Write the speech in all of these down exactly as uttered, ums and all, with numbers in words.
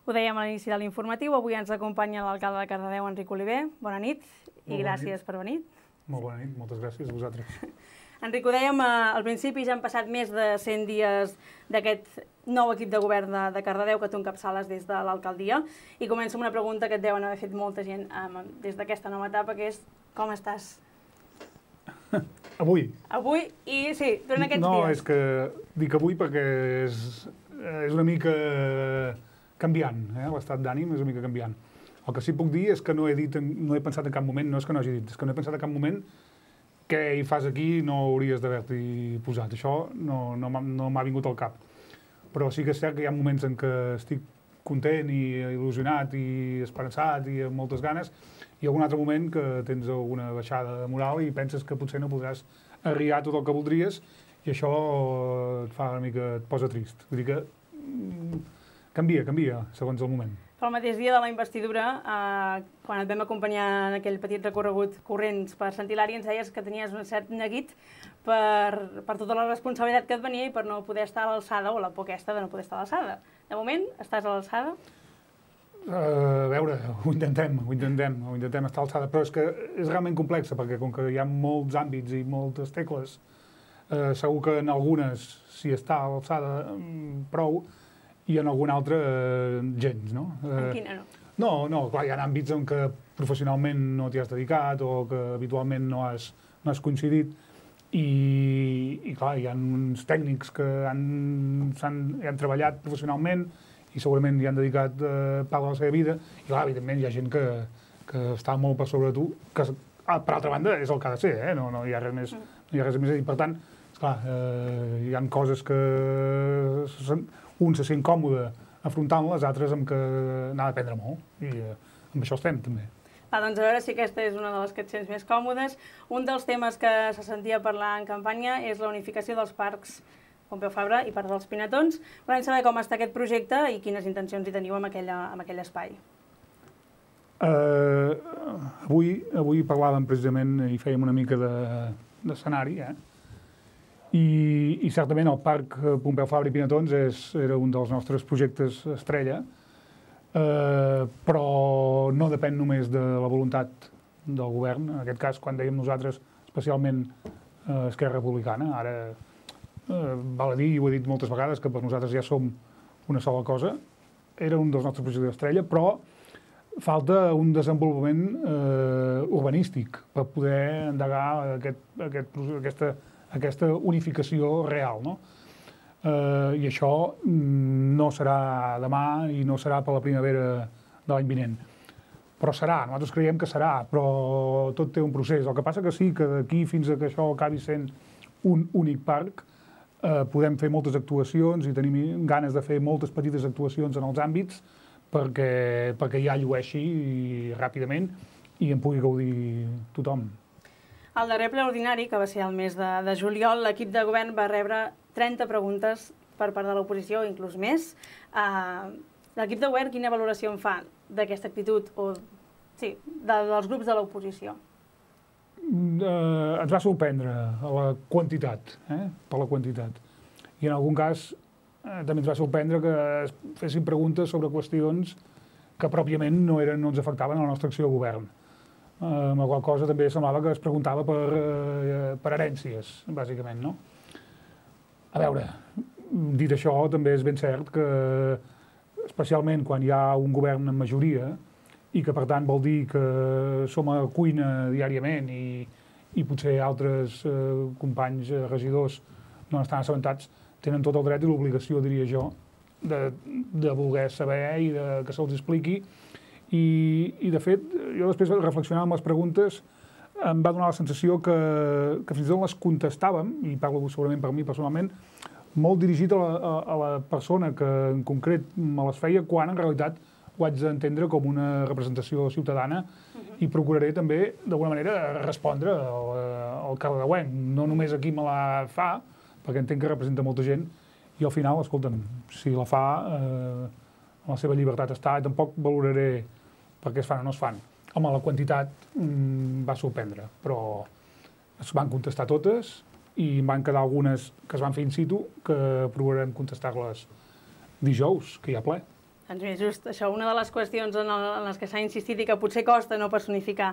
Ho dèiem a l'inici de l'informatiu, avui ens acompanya l'alcalde de Cardedeu, Enric Oliver. Bona nit i gràcies per venir. Molt bona nit, moltes gràcies a vosaltres. Enric, ho dèiem al principi, ja han passat més de cent dies d'aquest nou equip de govern de Cardedeu que tu encapçales des de l'alcaldia. I començo amb una pregunta que et deuen haver fet molta gent des d'aquesta nova etapa, que és com estàs? Avui? Avui i sí, durant aquests dies. No, és que dic avui perquè és una mica canviant, l'estat d'ànim és una mica canviant. El que sí puc dir és que no he dit, no he pensat en cap moment, no és que no hagi dit, és que no he pensat en cap moment què hi fas aquí no hauries d'haver-t'hi posat. Això no, no m'ha vingut al cap. Però sí que és cert que hi ha moments en què estic content i il·lusionat i esperançat i amb moltes ganes, i algun altre moment que tens alguna baixada de moral i penses que potser no podràs arribar tot el que voldries i això et fa una mica, et posa trist. Vull dir que canvia, canvia, segons el moment. Pel mateix dia de la investidura, quan et vam acompanyar en aquell petit recorregut corrents per Sant Hilari, ens deies que tenies un cert neguit per tota la responsabilitat que et venia i per no poder estar a l'alçada, o la por aquesta de no poder estar a l'alçada. De moment, estàs a l'alçada? A veure, ho intentem, ho intentem, ho intentem estar a l'alçada, però és que és realment complexa, perquè com que hi ha molts àmbits i moltes tecles, segur que en algunes s'hi està a l'alçada prou, i en algun altre gens, no? En quina no? No, no, clar, hi ha àmbits en què professionalment no t'hi has dedicat o que habitualment no has coincidit i, clar, hi ha uns tècnics que han treballat professionalment i segurament hi han dedicat part de la seva vida i, clar, evidentment hi ha gent que està molt per sobre tu, que per altra banda és el que ha de ser, eh? No hi ha res més a dir. Per tant, esclar, hi ha coses que un se sent còmode afrontant-les, altres amb què n'ha d'aprendre molt i amb això estem també. Va, doncs a veure si aquesta és una de les que et sents més còmodes. Un dels temes que se sentia parlar en campanya és la unificació dels parcs Pompeu Fabra i Parc dels Pinatons. Volem saber com està aquest projecte i quines intencions hi teniu en aquell espai. Avui parlàvem precisament i fèiem una mica d'escenari, eh? I certament el Parc Pompeu Fabra i Pinatons era un dels nostres projectes estrella, però no depèn només de la voluntat del govern, en aquest cas, quan dèiem nosaltres, especialment Esquerra Republicana, ara val a dir, i ho he dit moltes vegades, que per nosaltres ja som una sola cosa, era un dels nostres projectes estrella, però falta un desenvolupament urbanístic per poder endegar aquesta aquesta unificació real, no? I això no serà demà i no serà per la primavera de l'any vinent. Però serà, nosaltres creiem que serà, però tot té un procés. El que passa que sí que d'aquí fins a que això acabi sent un únic parc podem fer moltes actuacions i tenim ganes de fer moltes petites actuacions en els àmbits perquè ja llueixi ràpidament i en pugui gaudir tothom. Al darrer ple ordinari, que va ser el mes de juliol, l'equip de govern va rebre trenta preguntes per part de l'oposició, inclús més. L'equip de govern, quina valoració en fa d'aquesta actitud dels grups de l'oposició? Ens va sorprendre la quantitat, per la quantitat. I en algun cas també ens va sorprendre que es fessin preguntes sobre qüestions que pròpiament no ens afectaven a la nostra acció de govern. Amb la qual cosa també semblava que es preguntava per herències, bàsicament, no? A veure, dit això, també és ben cert que, especialment quan hi ha un govern en majoria, i que per tant vol dir que som a cuina diàriament i potser altres companys regidors no estan assabentats, tenen tot el dret i l'obligació, diria jo, de voler saber i que se'ls expliqui. I, de fet, jo després reflexionant amb les preguntes em va donar la sensació que fins i tot les contestàvem, i parlo segurament per mi personalment, molt dirigit a la persona que en concret me les feia, quan en realitat ho haig d'entendre com una representació ciutadana i procuraré també, d'alguna manera, respondre al cardedeuenc. No només aquí me la fa, perquè entenc que representa molta gent, i al final, escolta'm, si la fa, la seva llibertat està, i tampoc valoraré per què es fan o no es fan. Home, la quantitat va sorprendre, però es van contestar totes i van quedar algunes que es van fer in situ que procurarem contestar-les dijous, que hi ha ple. Doncs bé, just això, una de les qüestions en, el, en les que s'ha insistit i que potser costa no personificar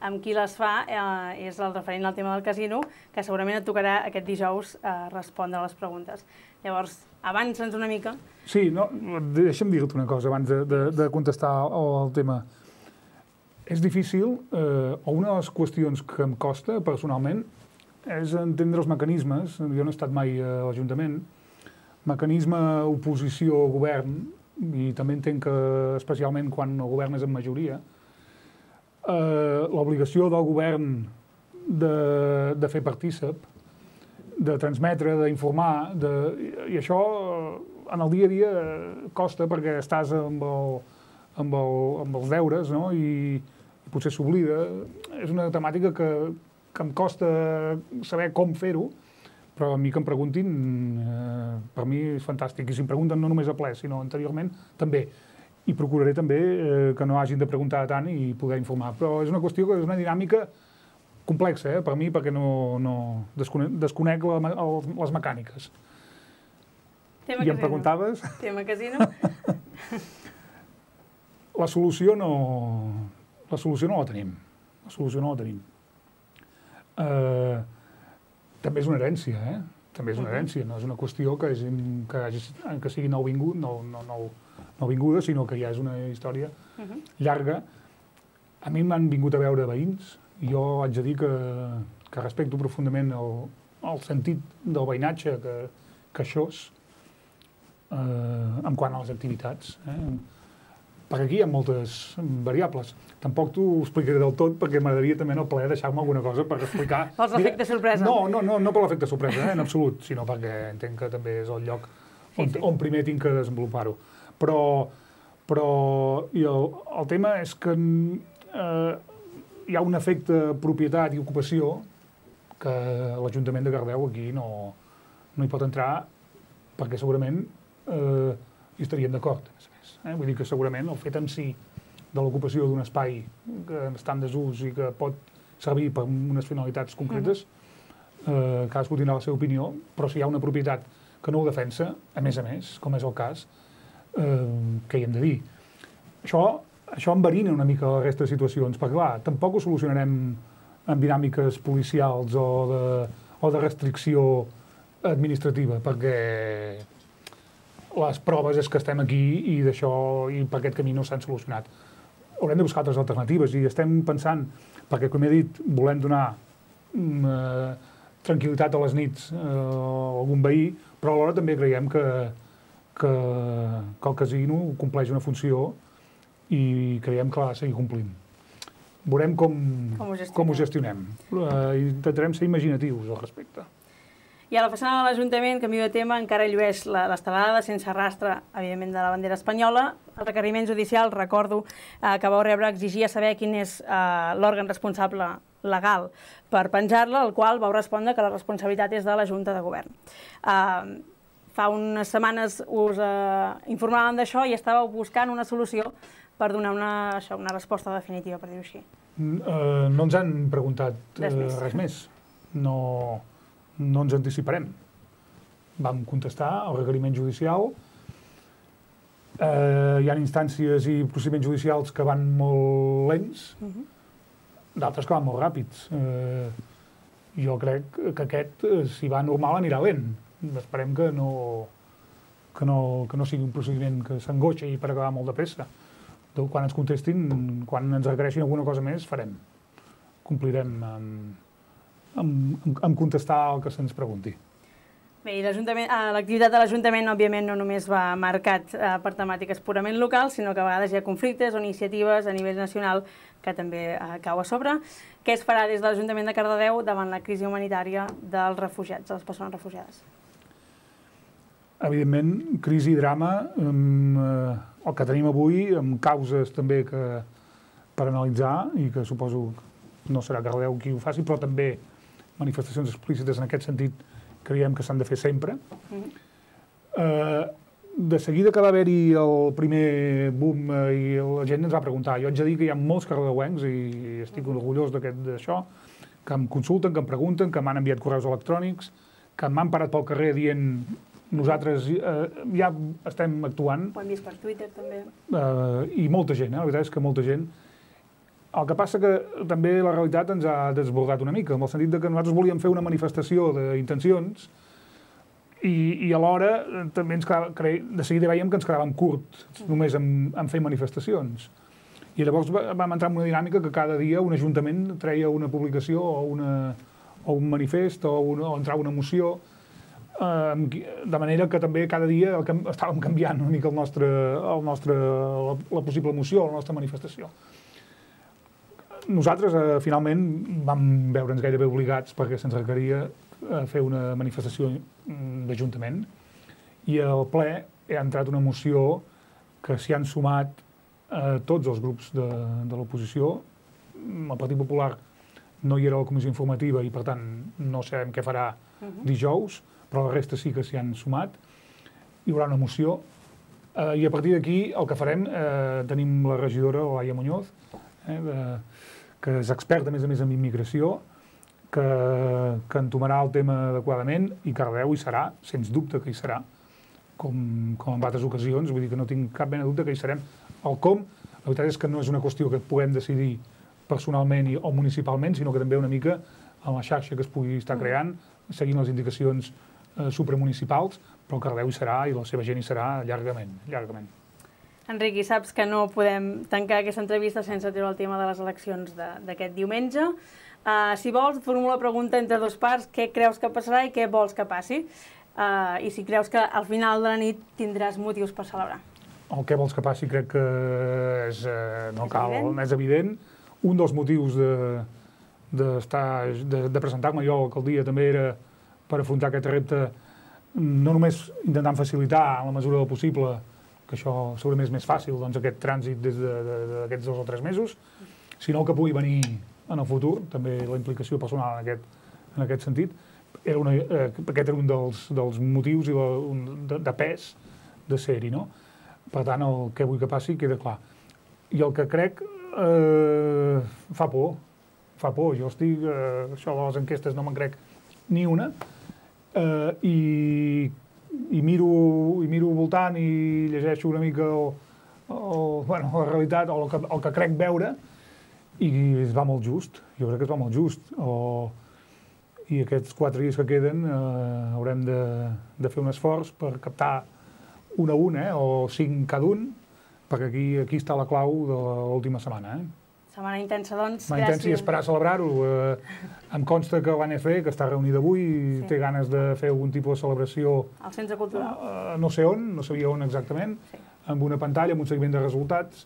amb qui les fa eh, és el referent al tema del casino, que segurament et tocarà aquest dijous eh, respondre a les preguntes. Llavors, avança'ns una mica. Sí, no, deixa'm dir-te una cosa abans de, de, de contestar al tema. És difícil, eh, o una de les qüestions que em costa personalment és entendre els mecanismes. Jo no he estat mai a l'Ajuntament. Mecanisme oposició-govern, i també entenc que especialment quan el govern és en majoria, eh, l'obligació del govern de, de fer partícip, de transmetre, d'informar, de, i això en el dia a dia costa perquè estàs amb, el, amb, el, amb els deures, no? I, i potser s'oblida. És una temàtica que, que em costa saber com fer-ho, però a mi que em preguntin, eh, per mi és fantàstic. I si em pregunten no només a ple, sinó anteriorment, també. I procuraré també eh, que no hagin de preguntar tant i poder informar. Però és una qüestió que és una dinàmica complexa, eh, per mi, perquè no, no desconec, desconec la, el, les mecàniques. Tema I casino. em preguntaves? Tema casino. La solució no... La solució no la tenim. La solució no la tenim. Eh... També és una herència, eh? També és una herència, no és una qüestió que, és, que, hagi, que sigui nouvingut, no, no, no, nouvinguda, sinó que ja és una història uh-huh. llarga. A mi m'han vingut a veure veïns, i jo haig de dir que, que respecto profundament el, el sentit del veïnatge que, que això és, eh, en quant a les activitats. Eh? Perquè aquí hi ha moltes variables. Tampoc t'ho explicaré del tot, perquè m'agradaria també en el ple deixar-me alguna cosa per explicar. Pels efectes sorpresa. No, no, no, no per l'efecte sorpresa, eh, en absolut, sinó perquè entenc que també és el lloc on, sí, sí. on primer tinc que desenvolupar-ho. Però, però i el, el tema és que eh, hi ha un efecte propietat i ocupació que l'Ajuntament de Cardedeu aquí no, no hi pot entrar, perquè segurament eh, hi estaríem d'acord. Eh? Vull dir que segurament el fet en si de l'ocupació d'un espai que està en desús i que pot servir per unes finalitats concretes, eh, cadascú tindrà la seva opinió, però si hi ha una propietat que no ho defensa, a més a més, com és el cas, eh, què hi hem de dir? Això, això enverina una mica la resta de situacions, perquè clar, tampoc ho solucionarem amb dinàmiques policials o de, o de restricció administrativa, perquè les proves és que estem aquí i d'això i per aquest camí no s'han solucionat. Haurem de buscar altres alternatives i estem pensant, perquè com he dit, volem donar eh, tranquil·litat a les nits eh, a algun veí, però alhora també creiem que, que, que el casino compleix una funció i creiem que l'ha de seguir complint. Veurem com, com ho gestionem. Com ho gestionem. Eh, intentarem ser imaginatius al respecte. I a la façana de l'Ajuntament, canvi de tema, encara llueix l'estelada sense rastre, evidentment, de la bandera espanyola. El requeriment judicial, recordo, eh, que vau rebre exigia saber quin és eh, l'òrgan responsable legal per penjar-la, al qual vau respondre que la responsabilitat és de la Junta de Govern. Eh, fa unes setmanes us eh, informàvem d'això i estàveu buscant una solució per donar una, això, una resposta definitiva, per dir-ho així. Uh, no ens han preguntat uh, res més. Res més. No... No ens anticiparem. Vam contestar al requeriment judicial. Eh, hi ha instàncies i procediments judicials que van molt lents, uh-huh. d'altres que van molt ràpids. Eh, jo crec que aquest, si va normal, anirà lent. Esperem que no, que no, que no sigui un procediment que s'angoixa i per acabar molt de pressa. Quan ens contestin, quan ens requereixin alguna cosa més, farem. Complirem amb... Amb, amb contestar el que se'ns pregunti. Bé, i l'activitat de l'Ajuntament, òbviament, no només va marcat eh, per temàtiques purament locals, sinó que a vegades hi ha conflictes o iniciatives a nivell nacional que també eh, cau a sobre. Què es farà des de l'Ajuntament de Cardedeu davant la crisi humanitària dels refugiats, de les persones refugiades? Evidentment, crisi i drama, amb, eh, el que tenim avui, amb causes també que, per analitzar, i que suposo no serà Cardedeu qui ho faci, però també manifestacions explícites en aquest sentit creiem que s'han de fer sempre. Mm-hmm. eh, de seguida que va haver-hi el primer boom eh, i la gent ens va preguntar, jo haig de dir que hi ha molts cardedeuencs i estic mm-hmm. orgullós d'això, que em consulten, que em pregunten, que m'han enviat correus electrònics, que m'han parat pel carrer dient Nosaltres eh, ja estem actuant. Ho hem vist per Twitter, també. Eh, I molta gent, eh? La veritat és que molta gent. El que passa que també la realitat ens ha desbordat una mica, en el sentit que nosaltres volíem fer una manifestació d'intencions i, i alhora també ens quedava, de seguida veiem que ens quedàvem curts només en, en fer manifestacions. I llavors vam entrar en una dinàmica que cada dia un ajuntament treia una publicació o, una, o un manifest o, una, o entrava una moció, eh, de manera que també cada dia el, estàvem canviant una mica el nostre, el nostre, la, la possible moció o la nostra manifestació. Nosaltres, eh, finalment, vam veure'ns gairebé obligats perquè se'ns requeria eh, fer una manifestació d'Ajuntament i al ple ha entrat una moció que s'hi han sumat eh, tots els grups de, de l'oposició. El Partit Popular no hi era a la comissió informativa i, per tant, no sabem què farà dijous, però la resta sí que s'hi han sumat. Hi haurà una moció eh, i a partir d'aquí el que farem, eh, tenim la regidora, Laia Muñoz, eh, de, que és experta, a més a més, en immigració, que, que entomarà el tema adequadament i Cardedeu hi serà, sens dubte que hi serà, com, com en altres ocasions, vull dir que no tinc cap mena de dubte que hi serem. El com, la veritat és que no és una qüestió que puguem decidir personalment i, o municipalment, sinó que també una mica en la xarxa que es pugui estar creant, seguint les indicacions eh, supramunicipals, però el Cardedeu hi serà i la seva gent hi serà llargament, llargament. Enric, i saps que no podem tancar aquesta entrevista sense treure el tema de les eleccions d'aquest diumenge. Uh, si vols, et formulo la pregunta entre dos parts, què creus que passarà i què vols que passi? Uh, I si creus que al final de la nit tindràs motius per celebrar. El què vols que passi crec que és, eh, no és cal, evident. és evident. Un dels motius de, de, de, de presentar-me jo a l'alcaldia també era per afrontar aquest repte, no només intentant facilitar en la mesura del possible, que això segurament és més fàcil, doncs, aquest trànsit des d'aquests dos o tres mesos, sinó que pugui venir en el futur, també la implicació personal en aquest, en aquest sentit. Era una, eh, aquest era un dels, dels motius i la, un, de, de pes de ser-hi, no? Per tant, el que vull que passi queda clar. I el que crec eh, fa por, fa por. Jo estic, eh, això de les enquestes no me'n crec ni una, eh, i I miro, i miro al voltant i llegeixo una mica el, el, bueno, la realitat o el que, el que crec veure i es va molt just, jo crec que es va molt just. O, I aquests quatre dies que queden eh, haurem de, de fer un esforç per captar un a un, eh, o cinc cada un, perquè aquí, aquí està la clau de l'última setmana. Eh? Setmana intensa, doncs. Setmana intensa i esperar celebrar-ho. Eh, em consta que l'A N C, que està reunida avui, sí. té ganes de fer algun tipus de celebració al Centre Cultural. Eh, no sé on, no sabia on exactament, sí. amb una pantalla, amb un seguiment de resultats,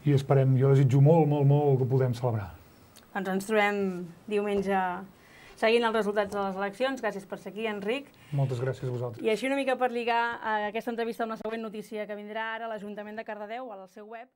i esperem, jo desitjo molt, molt, molt que podem celebrar. Doncs ens trobem diumenge seguint els resultats de les eleccions. Gràcies per ser aquí, Enric. Moltes gràcies a vosaltres. I així una mica per lligar aquesta entrevista amb la següent notícia que vindrà ara, l'Ajuntament de Cardedeu, al seu web,